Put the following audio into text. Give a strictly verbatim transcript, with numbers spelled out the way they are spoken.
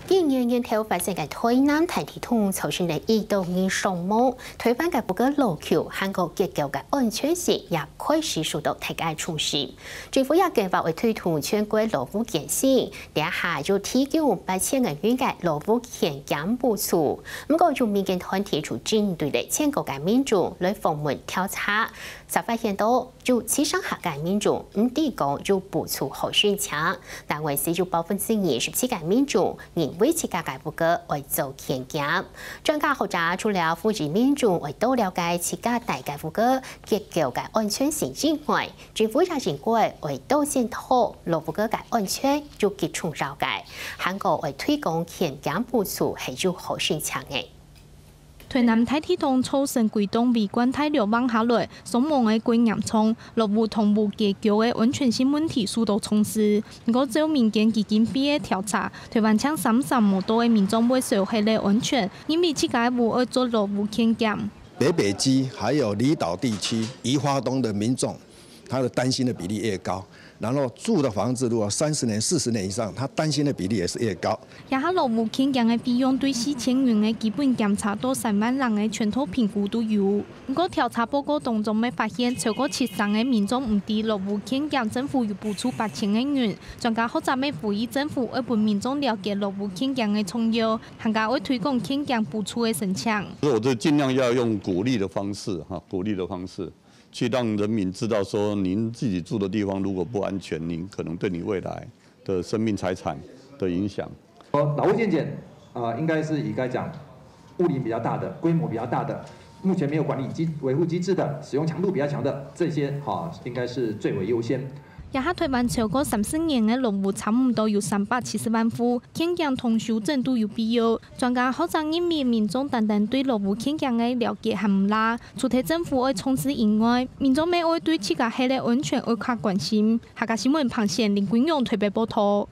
今年年頭發生个台南大地動造成了一多人傷亡，台灣个屋个老舊還過結構个安全性也開始受到大家重視。政府也計劃會推動全國老屋更新，這下就提供八千個元个老屋健檢補助。毋過，有民間團體就針對了全國个民眾來訪問調查， 才發現到，有七成下个民眾毋知講有補助好申請，但還係有百分之二十七个民眾認為自家个屋个愛做健檢。專家學者除了呼籲民眾愛多了解自家戴个屋个結構个安全性以外，政府也應該愛多檢討老屋个安全有幾重要个，還過愛推廣健檢補助係有好申請个。 台南大地動造成幾棟維冠大樓橫下來，傷亡个過嚴重，老屋同屋結構个安全性問題受到重視。毋過照民間基金會个調查，台灣淨三成無多个民眾會燒核个安全，認為自家个屋愛做老屋健檢。北北基還有離島地區、宜花東的民眾，他的擔心的比例越高。 然後住的房子如果三十年、四十年以上，他擔心的比例也是越高。這下老屋健檢个費用對四千元个基本檢查到三萬零个全套評估都有。毋過調查報告當中乜發現，超過七成个民眾毋知老屋健檢政府有補助八千个銀。專家學者乜呼籲政府愛分民眾了解老屋健檢个重要，還過愛推廣健檢補助个申請。所以我就盡量要用鼓勵的方式，哈，鼓勵的方式， 去讓人民知道說，您自己住的地方如果不安全，您可能對你未來的生命財產的影響。呃，老屋健檢，呃，應該是以該講屋齡比較大的、規模比較大的、目前沒有管理機、維護機制的、使用強度比較強的這些，哈，應該是最為優先。這下台灣超過三十年个老屋，差毋多有三百七十萬戶，健檢同修整都有必要。專家學者認為，民眾單單對老屋健檢个了解還毋罅， 除忒政府愛重視以外，民眾乜愛對自家核个安全愛較關心。客家新聞彭賢、林君勇台北報導。